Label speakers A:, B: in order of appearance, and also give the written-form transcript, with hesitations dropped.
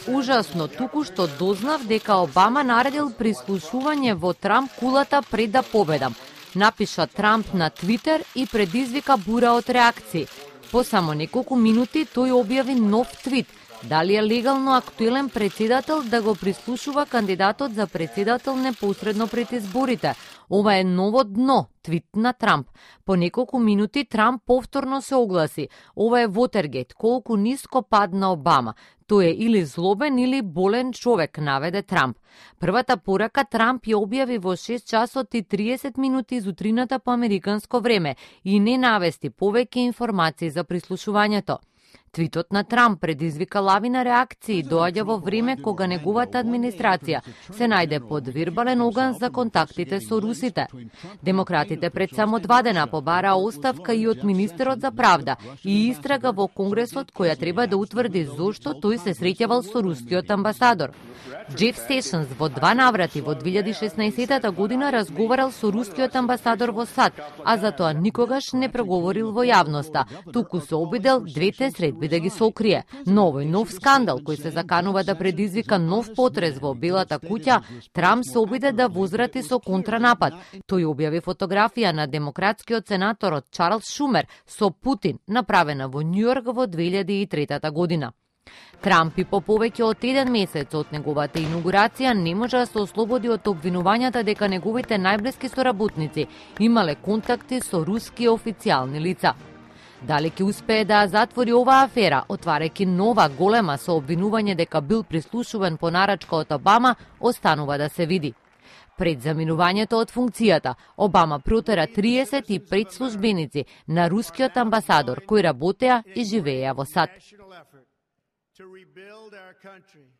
A: Ужасно, туку што дознав дека Обама наредил прислушување во Трамп кулата пред да победам. Напиша Трамп на Твитер и предизвика бура од реакции. По само неколку минути тој објави нов твит. Дали е легално актуелен председател да го прислушува кандидатот за председател непосредно пред изборите? Ова е ново дно, твит на Трамп. По неколку минути Трамп повторно се огласи. Ова е Вотергейт, колку ниско падна Обама. Тој е или злобен или болен човек, наведе Трамп. Првата порака Трамп ја објави во 6 часот и 30 минути изутрината по американско време и не навести повеќе информации за прислушувањето. Твитот на Трамп предизвика лавина реакции, доаѓа во време кога неговата администрација се најде под вербален оган за контактите со русите. Демократите пред само 2 дена побараа оставка и од министерот за правда и истрага во Конгресот која треба да утврди зошто тој се среќавал со рускиот амбасадор. Джеф Сешнс во 2 наврати во 2016 година разговарал со рускиот амбасадор во САД, а затоа никогаш не преговорил во јавноста, туку се обидел двете средби да ги сокрие. Но овој нов скандал кој се заканува да предизвика нов потрес во Белата куќа, Трамп се обиде да возврати со контранапад. Тој објави фотографија на демократскиот сенаторот Чарлс Шумер со Путин, направена во Њујорк во 2003 година. Трамп и по повеќе од 1 месец од неговата инаугурација не може да се ослободи од обвинувањата дека неговите најблиски соработници имале контакти со руски официјални лица. Дали ќе успее да затвори оваа афера, отварајќи нова голема со обвинување дека бил прислушуван по нарачка од Обама, останува да се види. Пред заминувањето од функцијата, Обама протера 35 службеници на рускиот амбасадор кои работеа и живееа во САД.
B: To rebuild our country.